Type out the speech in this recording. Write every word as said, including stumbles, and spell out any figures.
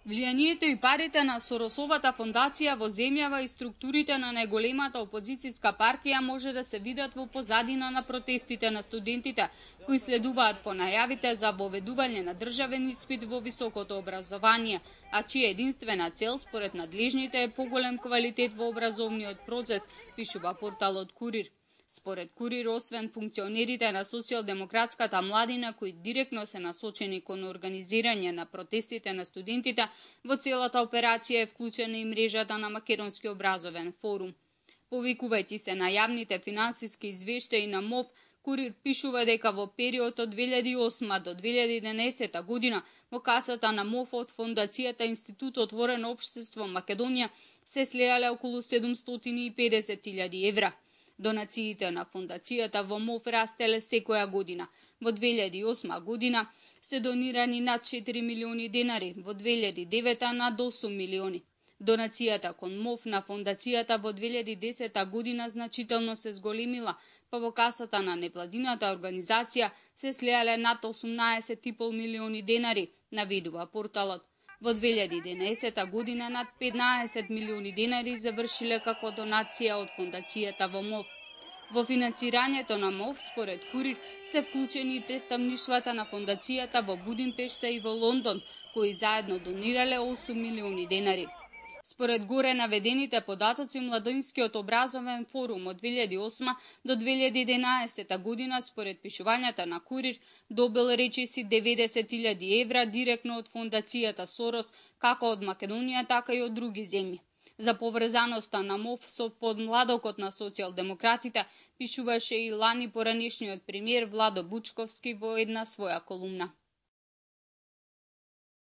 Влијанието и парите на Соросовата фондација во земјава и структурите на најголемата опозицијска партија може да се видат во позадина на протестите на студентите, кои следуваат по најавите за воведување на државен испит во високото образование, а чија единствена цел според надлежните е поголем квалитет во образовниот процес, пишува порталот Курир. Според Курир, освен функционерите на социјалдемократската младина кои директно се насочени кон организирање на протестите на студентите, во целата операција е вклучена и мрежата на Македонски образовен форум. Повикувајќи се на јавните финансиски извештаи на МОВ, Курир пишува дека во период од две илјади и осма до две илјади и единаесета година во касата на МОВ од Фондацијата Институт Отворено општество Македонија се слеале околу седумстотини и педесет илјади евра. Донациите на фондацијата во МОВ растеле секоја година. Во две илјади и осма година се донирани над четири милиони денари, во две илјади и девета над осум милиони. Донацијата кон МОВ на фондацијата во две илјади и десета година значително се зголемила, па во касата на невладината организација се слеале над осумнаесет и пол милиони денари, наведува порталот. Во две илјади и единаесета година над петнаесет милиони денари завршиле како донација од фондацијата во МОВ. Во финансирањето на МОВ, според Курир, се вклучени и представништвата на фондацијата во Будимпешта и во Лондон, кои заедно донирале осум милиони денари. Според горе наведените податоци, Младинскиот образовен форум од две илјади и осма до две илјади и единаесета година, според пишувањата на Курир, добил речиси деветдесет илјади евра директно од фондацијата Сорос, како од Македонија, така и од други земји. За поврзаноста на МОВ со подмладокот на социјалдемократите пишуваше и лани поранешниот премиер Владо Бучковски во една своја колумна.